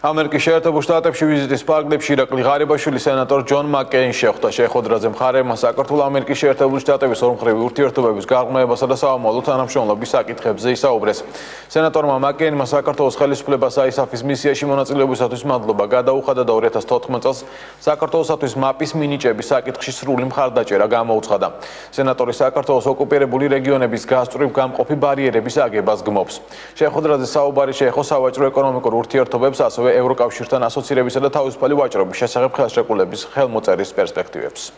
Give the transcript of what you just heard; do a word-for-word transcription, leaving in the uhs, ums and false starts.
ამერიკის შეერთებულ შტატებში ვიზიტის პარკლებში ირაკლი ღარიბაშვილი სენატორ ჯონ მაკკეინს შეხვდა. შეხვედრაზე მხარეებმა საქართველო-ამერიკის შეერთებული შტატების ორმხრივი ურთიერთობების გაღრმავებასა და საომავლო თანამშრომლობის საკითხებზე ისაუბრეს. სენატორმა მაკკეინმა საქართველოს ხელისუფლებას აისაფის მისიაში მონაწილეობისათვის მადლობა გადაუხადა და ორი ათას თოთხმეტ წელს საქართველოსათვის მაპის მინიჭების საკითხში სრული მხარდაჭერა გამოუცხადა. სენატორი საქართველოს ოკუპირებული რეგიონების გასწვრივ გამყოფი ბარიერების აგებას გმობს. შეხვედრაზე საუბარი შეეხო სავაჭრო ეკონომიკურ ურთიერთობებს, ასევე ევროკავშირთან ასოცირებისა და თავისუფალი ვაჭრობის შესახებ ხელშეკრულების ხელმოწერის პერსპექტივებს.